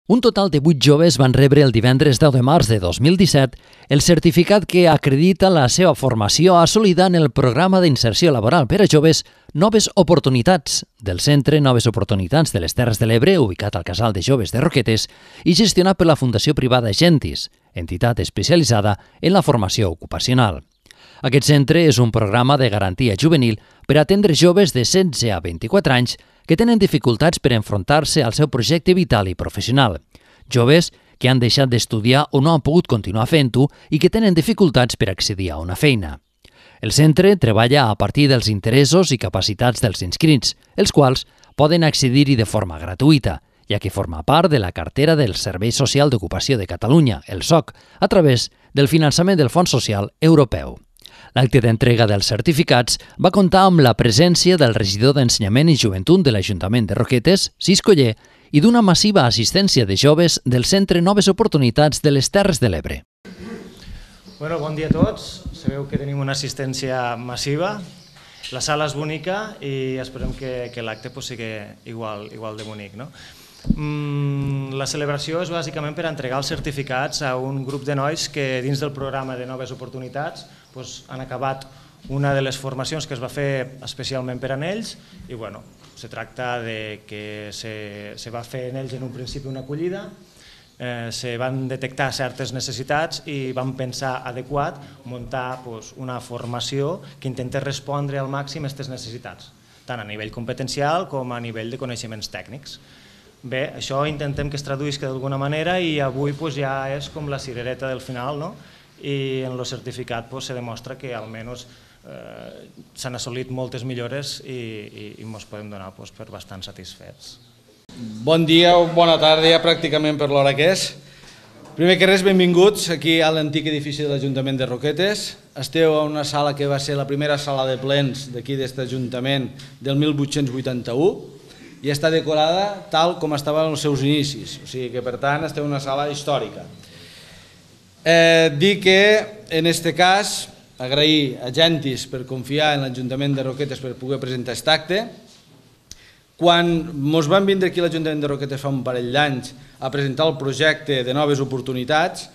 Un total de 8 joves van rebre el divendres 10 de març de 2017 el certificat que acredita la seva formació assolida en el programa d'inserció laboral per a joves Noves Oportunitats del Centre Noves Oportunitats de les Terres de l'Ebre, ubicat al Casal de Joves de Roquetes i gestionat per la Fundació Privada Gentis, entitat especialitzada en la formació ocupacional. Aquest centre és un programa de garantia juvenil per atendre joves de 16 a 24 anys que tenen dificultats per enfrontar-se al seu projecte vital i professional. Joves que han deixat d'estudiar o no han pogut continuar fent-ho i que tenen dificultats per accedir a una feina. El centre treballa a partir dels interessos i capacitats dels inscrits, els quals poden accedir-hi de forma gratuïta, ja que forma part de la cartera del Servei Social d'Ocupació de Catalunya, el SOC, a través del finançament del Fons Social Europeu. L'acte d'entrega dels certificats va comptar amb la presència del regidor d'Ensenyament i Joventut de l'Ajuntament de Roquetes, Cis Coller, i d'una massiva assistència de joves del Centre Noves Oportunitats de les Terres de l'Ebre. Bon dia a tots. Sabeu que tenim una assistència massiva. La sala és bonica i esperem que l'acte sigui igual de bonic. La celebració és bàsicament per entregar els certificats a un grup de nois que dins del programa de Noves Oportunitats han acabat una de les formacions que es va fer especialment per a ells i se tracta que se va fer en ells en un principi una acollida, se van detectar certes necessitats i vam pensar adequat muntar una formació que intentés respondre al màxim a aquestes necessitats, tant a nivell competencial com a nivell de coneixements tècnics. Bé, això intentem que es traduïsca d'alguna manera i avui ja és com la cirereta del final, i en el certificat se demostra que almenys s'han assolit moltes millores i ens podem donar per bastant satisfets. Bon dia o bona tarda, ja pràcticament per l'hora que és. Primer que res, benvinguts aquí a l'antic edifici de l'Ajuntament de Roquetes. Esteu a una sala que va ser la primera sala de plens d'aquí d'aquest Ajuntament del 1881 i està decorada tal com estava en els seus inicis, o sigui que per tant esteu en una sala històrica. Dir que en aquest cas agrair a Gentis per confiar en l'Ajuntament de Roquetes per poder presentar aquest acte. Quan ens vam vindre aquí a l'Ajuntament de Roquetes fa un parell d'anys a presentar el projecte de Noves Oportunitats,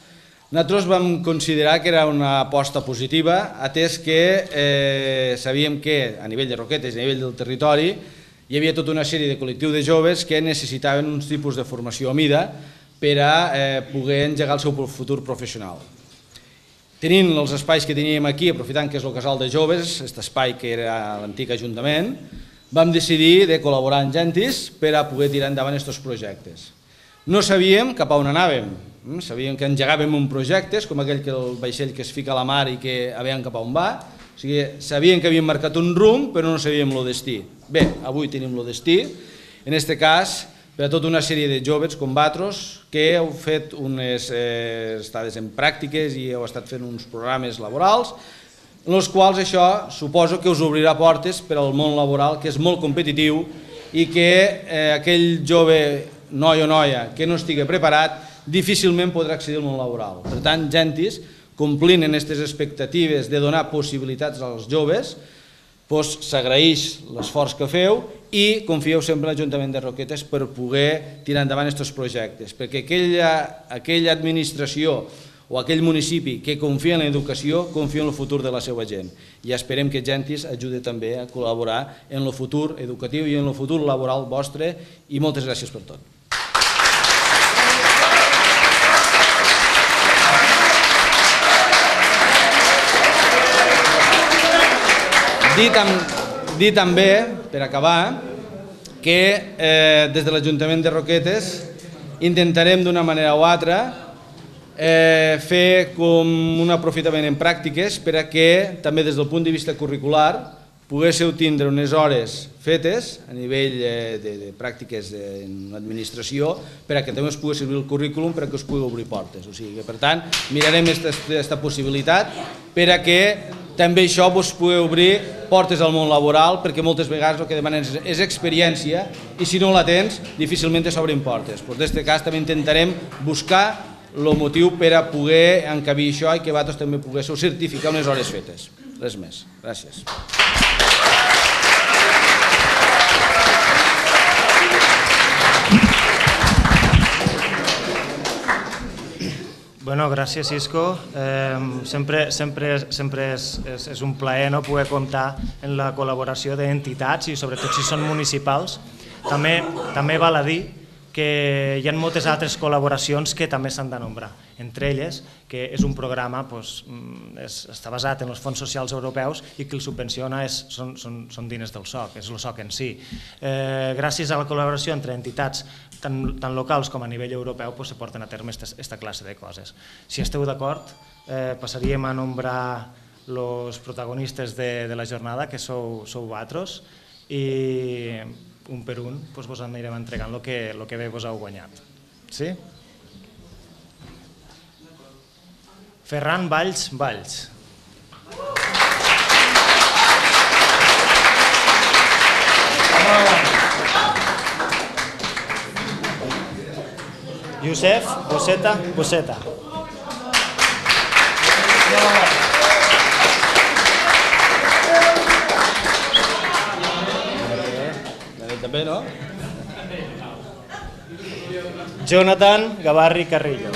nosaltres vam considerar que era una aposta positiva, atès que sabíem que a nivell de Roquetes i a nivell del territori hi havia tota una sèrie de col·lectius de joves que necessitaven uns tipus de formació a mida per a poder engegar el seu futur professional. Tenint els espais que teníem aquí, aprofitant que és el casal de joves, aquest espai que era l'antic Ajuntament, vam decidir de col·laborar amb Gentis per a poder tirar endavant aquests projectes. No sabíem cap a on anàvem, sabíem que engegàvem un projecte, com aquell que el vaixell que es fica a la mar i que veiem cap a on va, o sigui, sabíem que havíem marcat un rumb però no sabíem el destí. Bé, avui tenim el destí, en aquest cas per a tota una sèrie de joves com vosaltres que heu fet unes estades en pràctiques i heu estat fent uns programes laborals en els quals això suposo que us obrirà portes per al món laboral, que és molt competitiu i que aquell jove noi o noia que no estigui preparat difícilment podrà accedir al món laboral. Per tant, Gentis, complint en aquestes expectatives de donar possibilitats als joves, s'agraeix l'esforç que feu i confieu sempre en l'Ajuntament de Roquetes per poder tirar endavant aquests projectes, perquè aquella administració o aquell municipi que confia en l'educació, confia en el futur de la seva gent. I esperem que Gentis ajudi també a col·laborar en el futur educatiu i en el futur laboral vostre i moltes gràcies per tot. Dir també, per acabar, que des de l'Ajuntament de Roquetes intentarem d'una manera o altra fer com un aprofitament en pràctiques per a que també des del punt de vista curricular poguéssiu tindre unes hores fetes a nivell de pràctiques en l'administració per a que també us pugui servir el currículum per a que us pugui obrir portes. O sigui que, per tant, mirarem aquesta possibilitat per a que també això us pugui obrir portes al món laboral, perquè moltes vegades el que demanen és experiència i si no la tens difícilment s'obrin portes. En aquest cas també intentarem buscar el motiu per a poder encabir això i que vosaltres també poguéssiu certificar unes hores fetes. Res més. Gràcies. Bueno, gràcies, Isco. Sempre és un plaer poder comptar en la col·laboració d'entitats i sobretot si són municipals. També val a dir que hi ha moltes altres col·laboracions que també s'han de nombrar. Entre elles, que és un programa que està basat en els fons socials europeus i que el subvenciona són diners del SOC, és el SOC en si. Gràcies a la col·laboració entre entitats tant locals com a nivell europeu se porten a terme aquesta classe de coses. Si esteu d'acord, passaríem a nombrar els protagonistes de la jornada, que sou vosaltres, i un per un vos anirem entregant el que bé vos heu guanyat. Sí? Ferran Valls Valls. Josep Bosseta. També, no? Jonathan Gavarri Carrillo.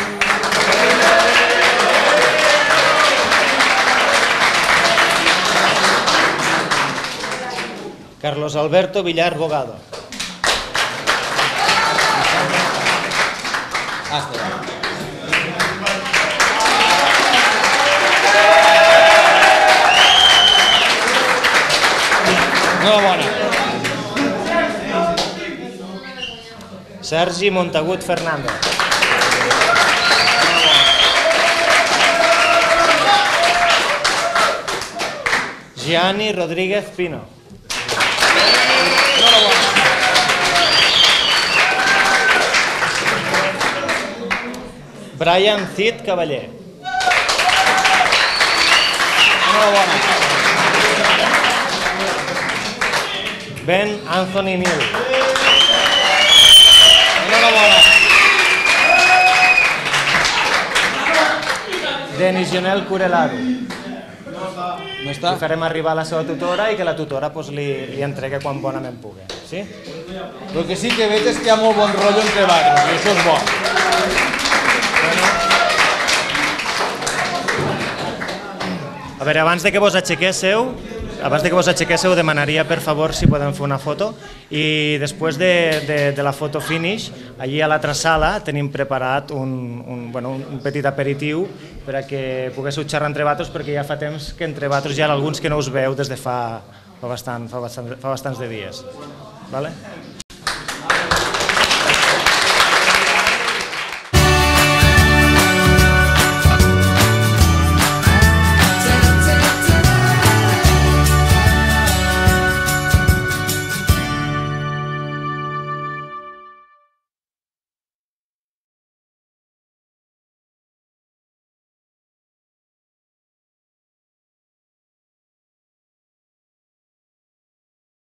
Carlos Alberto Villar Bogado. Enhorabona. Sergi Montagut Fernández. Gianni Rodríguez Pino. Brian Cid Cavaller. Ben Anthony Nil. Denis Jonel Curelaro. No està? Li farem arribar a la seva tutora i que la tutora li entregui quan bonament pugui. Sí? El que sí que veig és que hi ha molt bon rotllo entre vosaltres, i això és bo. A veure, abans de que vos aixequéssiu, demanaria per favor si podem fer una foto i després de la foto finish, allí a l'altra sala tenim preparat un petit aperitiu per a que poguéssiu xerrar entre vosaltres, perquè ja fa temps que entre vosaltres hi ha alguns que no us veu des de fa bastants de dies. Vale?